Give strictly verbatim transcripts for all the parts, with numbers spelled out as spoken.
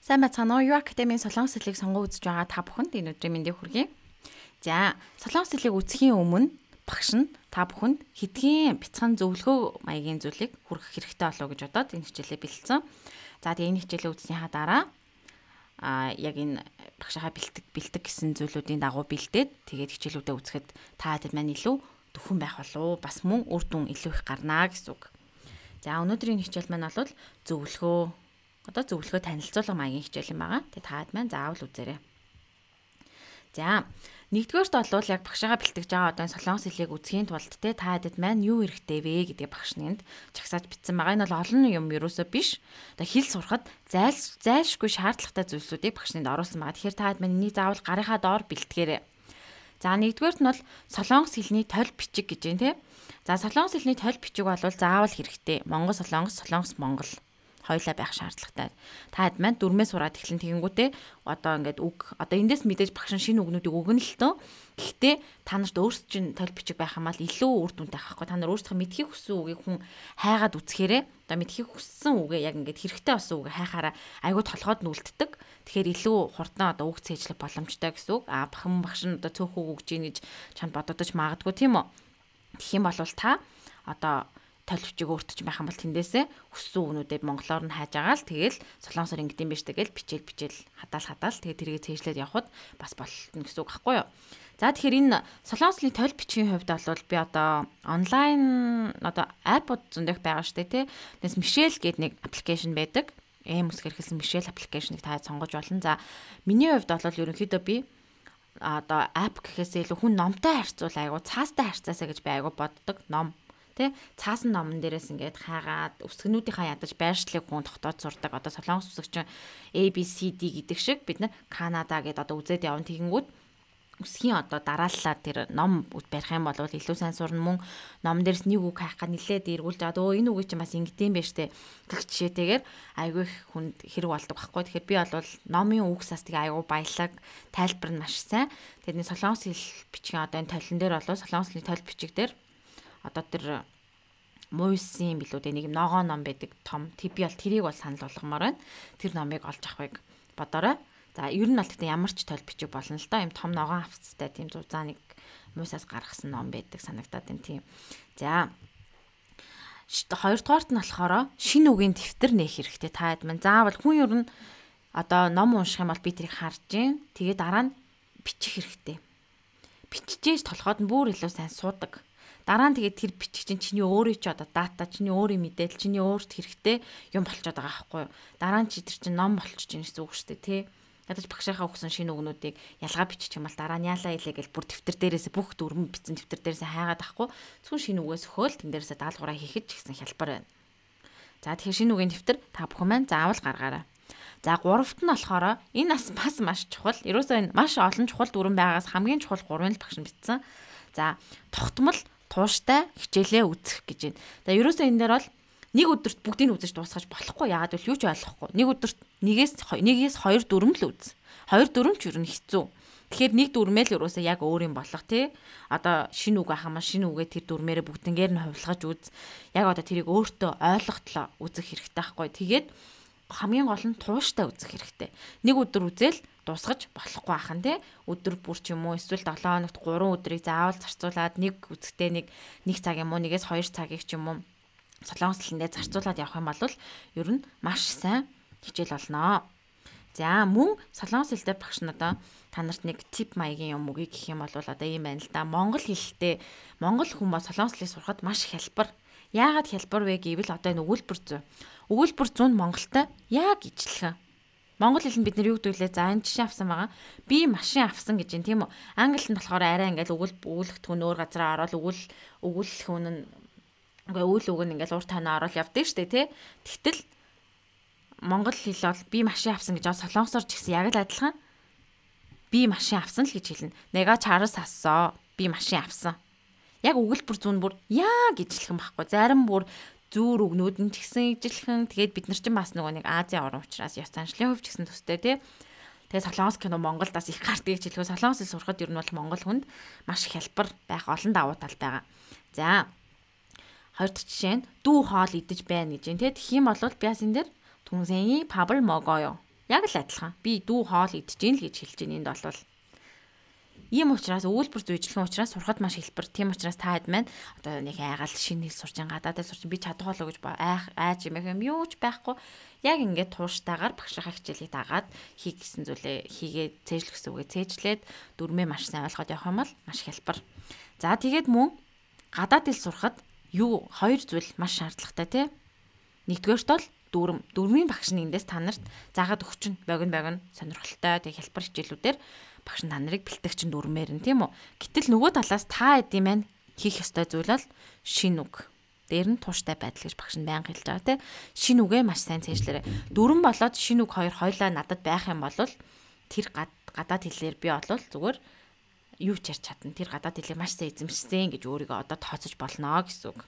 Сайн бацгаана уу? Юу Академийн Солонгос хэлийг сонгон үзэж байгаа та бүхэнд энэ өдрийн мэндийг хүргэе. За, Солонгос хэлийг үзэхийн өмнө багш нь та бүхэнд хэдийн бяцхан зөвлөгөө маягийн зүйлийг хүргэх хэрэгтэй болов уу гэж бодоод энэ хичээлээ бэлдсэн. За, тэгээ энэ хичээлээ үзснийхаа дараа а яг энэ багшаа бэлтэг бэлтэг гэсэн зүйлүүдийн дагуу бэлдээд тэгээд хичээлүүдээ үзэхэд та хэд маань илүү төвхөн байх болов уу? Бас мөн үр дүн илүү их гарнаа гэсэн үг. За, өнөөдрийн хичээл маань бол зөвлөгөө одоо зөвлөгөө танилцуулга маягийн хичээл юм байгаа. Тэгээ таад маань заавал үзээрэй. За, нэгдүгээрт бол яг багшаага бэлтгэж байгаа одоо солонгос хэлийг үзхийн тулд те таадэд маань юу хэрэгтэй вэ гэдэг багш нэнд чагсааж бичсэн байгаа. Энэ бол олон юм юусоо биш. Одоо хэл сурахад зайл зайлшгүй шаардлагатай зүйлсүүдийг багш нэнд оруулсан байгаа. Тэгэхээр таад маань энийг заавал гарынхаа доор бэлтгээрэй. За, нэгдүгээрт нь бол солонгос хэлний толь бичиг гэж байна те. За, солонгос хэлний толь бичиг бол заавал хэрэгтэй. Монгол солонгос, солонгос монгол хоёлаа байх шаардлагатай. Та хэд маань дөрмөө сураад эхлэн тэгэнгүүтээ одоо ингээд үг одоо эндээс мэдээж багш шинэ үгнүүдийг өгнө л төө. Гэхдээ та нарт өөрсдөө чинь толь бичиг байх юм бол илүү үр дүнтэй байхгүй. Та нар өөрсдөө мэдхийг хүссэн үгийг хүн хайгаад үзэхээрээ одоо мэдхийг хүссэн үгээ яг ингээд хэрэгтэй болсон үгээ хайхаараа айгүй толгойд нүлддэг. Тэгэхээр илүү хурдан одоо үг цээжлэх боломжтой гэсэн үг. Аа бахан багш нь одоо цөөхөө өгж ийн гэж чанд бодогдож магадгүй тийм үү. Тэгэх юм бол та одоо толь бичиг өөртөж байх юм бол тэндээсээ хүссэн үгнүүдээ монголоор нь хайж агаал тэгэл солонгосоор ингэдэм биш тэгэл бичээл бичээл хадаал хадаал тэгээ тэргээ цээжлээд явхад бас болтно гэсэн үг байхгүй юу. За тэгэхээр энэ солонгосны толь бичгийн хувьд бол би одоо онлайн одоо iPod зөндөх байгаа штэ тий. Тэс Мишель гэдэг нэг аппликейшн байдаг. Эм үсгээр хэлсэн Мишель аппликейшнийг та сонгож болно. За миний хувьд бол ерөнхийдөө би одоо app гэхээс илүү хүн номтой харьцуул айгу цаастай харьцаасаа гэж би айгу боддог ном. Тэ цаасан номон дээрээс ингээд хаагаад өсгөнүүдийнхаа ядаж байршлыг хүн тогтоод сурдаг. Одоо солонгос үсгч A B C D гэдэг шиг бид нар Канада гэдээ одоо үзээд явна тэгэнгүүт өсгийн одоо дарааллаа тэр ном барих юм бол илүү сайн сурна мөн ном дээрс нэг үг хайх га нилээд эргүүлж аваад өө энэ үгийг чинь бас ингэдэм байж тээ гэх жишээтэйгээр айгүй их хүнд хэрэг болдог байхгүй. Тэгэхээр би бол номын үг састыг айгүй баялаг тайлбар нь маш сайн. Тэгэхээр солонгос хэл бичгийн одоо энэ толин дээр бол солонгосны толь бичиг дээр одоо тэр муйсын билүү дээ нэг ногоо ном байдаг том тэг би бол тэрийг бол санал болгомоор байна. Тэр номыг олж авахыг бодорой. За ер нь бол гэхдээ ямар ч толь бичиг болно л доо юм том ногоон хавцтай тийм зузаа нэг муйсаас гаргасан ном байдаг санагдаад байна тийм. За хоёрдугаарт нь болохоор шинэ үгийн дэвтэр нээх хэрэгтэй. Та хэд мэн заавал хүн ер нь одоо ном унших юм бол би тэрийг харж гин тэгээ дараа нь бичих хэрэгтэй. Биччихээж толгойд нь бүр илүү сайн суудаг. Дараа нь тэгээд тэр бичих чинь чиний өөрийн ч одоо дата, чиний өөрийн мэдээлэл, чиний өөрт хэрэгтэй юм болчиход байгаа байхгүй юу. Дараа нь чи тэр чинь ном болчих чинь гэсэн үг шүү дээ, тий. Ядаж багшаахаа өгсөн шинэ үгнүүдийг ялгаа бичих юм бол дараа нь яалаа илээ гэж бүр дэвтэр дээрээс бүх дүрм бичсэн дэвтэр дээрээс хайгаад ахгүй. Зөвхөн шинэ үгээс өгөөл тэн дээрээс даалгавраа хийхэд ч гэсэн хялбар байна. За тэгэхээр шинэ үгийн дэвтэр та бүхэн маань заавал гаргаарай. За гуравт нь болохоор энэ бас бас маш чухал. Ерөөсөө энэ маш олон чухал дүрм байгаас хамгийн чухал гурвын л багш нь бичсэн. За тогтмол тууштай хичээлээ үзэх гэж байна. За ерөөсөө энэ дээр бол нэг өдөрт бүгдийг үзэж дуусгаж болохгүй. Яагаад гэвэл юу ч ойлгохгүй. Нэг өдөрт нэгээс нэгээс хоёр дүрм л үз. Хоёр дүрм ч ер нь хэцүү. Тэгэхээр нэг дүрмээ л ерөөсөө яг өөр юм болох тий. Одоо шинэ үг ахаа маш шинэ үгээ тэр дүрмээрээ бүгднгээр нь хувилгаж үз. Яг одоо тэрийг өөртөө ойлгохтлоо үзэх хэрэгтэй байхгүй. Тэгээд хамгийн гол нь тууштай үзэх хэрэгтэй. Нэг өдөр үзэл дуусгаж болохгүй ахын тий. Өдөр бүр ч юм уу эсвэл долоо хоногт гурван өдрийг заавал зарцуулаад нэг үзэхдээ нэг нэг цаг юм уу нэгээс хоёр цагийг ч юм уу солонгос хэлэндээ зарцуулаад явах юм бол ер нь маш сайн хичээл болно. За мөн солонгос хэлтэй багш надаа та нарт нэг тип маягийн юм үгүй гэх юм бол одоо ийм байна л да. Монгол хэлтэй монгол хүмүүс солонгос хэлийг сурахад маш хялбар. Яагаад хялбар вэ гэвэл одоо энэ өгүүлбэр зүй. Өгүүлбэр зүй нь монголтой яг ижилхэн. Монгол хэлэнд бид нэр юу гэдвүлээ за энэ жишээ авсан байгаа. Би машин авсан гэж юм тийм үү. Англинд нь болохоор арай ингээл өгүүл өгүүлэх түн өөр газараа ороод өгүүл өгүүлэх хүн нь үгүй үйл үг нь ингээл урт танаа ороод явдаг штэ тий. Тэгтэл монгол хэл бол би машин авсан гэж солонгосоор ч гэсэн яг л адилхан. Би машин авсан л гэж хэлнэ. Нэга чарс ассаа. Би машин авсан. Яг өгүүлбэр зүүн бүр яг ижилхэн байхгүй. Зарим бүр зүүр өгнүүд нь ч гэсэн ижилхэн. Тэгээд бид нар ч бас нөгөө нэг Азийн орн учраас ёс заншлын хувьд ч гэсэн төстэй тий. Тэгээд солонгос кино Монголд бас их гардыг ч хэлэхөө солонгос хэл сурахад ер нь бол монгол хүнд маш хялбар байх олон давуу тал байгаа. За хоёр дахь жишээ нь дүү хоол идэж байна гэж юм тий. Тэгэх юм бол би бас энэ дээр түнсэний пабл могоё. Яг л адилхан. Би дүү хоол идэж гин л гэж хэлж гин энд болвол. Ийм учраас өгүүлбэр зүйжлэх учраас сурахад маш хэлбэр. Тийм учраас та хэд маань одоо нэг айгаал шинэ хэл сурч гадаадаа сурч би чадхаа л гэж айх айж юм юм юу ч байхгүй. Яг ингээд тууштайгаар багшийнхаа хичээлийг дагаад хийх гэсэн зүйлээ хийгээ цээжлэх гэсэн үгээ цээжлээд дүрмээ маш сайн ойлгоод явах юм бол маш хэлбэр. За тэгээд мөн гадаад хэл сурахад юу хоёр зүйл маш шаардлагатай тий. Нэгдүгээрт бол дүрм. Дүрмийн багш нь эндээс та нарт заагаад өгч нь богино богино сонирхолтой тэг хэлбэр хичээлүүдээр багш нь та нарыг бэлтгэж чинь дүрмээр нь тийм үү. Гэтэл нөгөө талаас та эдийн маань хийх ёстой зүйл бол шин үг. Дээр нь тууштай байдал гэж багш нь байнга хэлж байгаа тийм. Шин үгээ маш сайн цээжлээрэй. Дүрм болоод шин үг хоёр хойлоо надад байх юм бол тэр гадаад хэлээр би болвол зүгээр юу ч ярьж чадна. Тэр гадаад хэлийг маш сайн эзэмшсэн гэж өөрийгөө одоо тооцож болно гэсэн үг.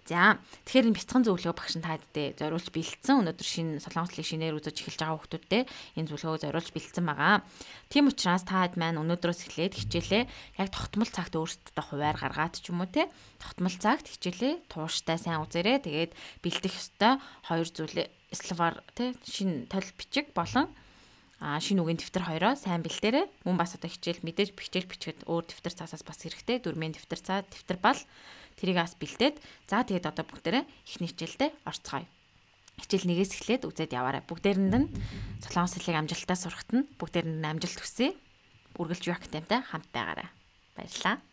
За тэгэхээр энэ бяцхан зөвлөгөө багш нь тааддээ зориулж бэлдсэн. Өнөөдөр шинэ солонгос хэлийг шинээр үзэж эхэлж байгаа хүмүүстээ энэ зөвлөгөөг зориулж бэлдсэн байгаа. Тийм учраас таад маань өнөөдрөөс эхлээд хичээлээ яг тогтмол цагт өөрсдөө хуваар гаргаад ч юм уу те тогтмол цагт хичээлээ тууштай сайн үзээрэй. Тэгээд бэлдэх ёстой хоёр зүйлээ словар те шинэ тол бичиг болон а шинэ үгийн дэвтэр хоёроо сайн бэлдээрэй. Мөн бас одоо хичээл мэдээж хичээл бичгээд өөр дэвтэр цаасаас бас хэрэгтэй. Дөрмийн дэвтэр цаа дэвтэр бол тэрийг бас бэлдээд за тэгээд одоо бүгдээрээ ихний хичээлдээ орцгоё. Хичээл нэгээс эхлээд үзээд яваарай. Бүгдээрэнд нь солонгос хэлийг амжилттай сурахад нь бүгдээрэнд нь амжилт хүсье. Үргэлж юу актемтай хамт байгаарай. Баярлалаа.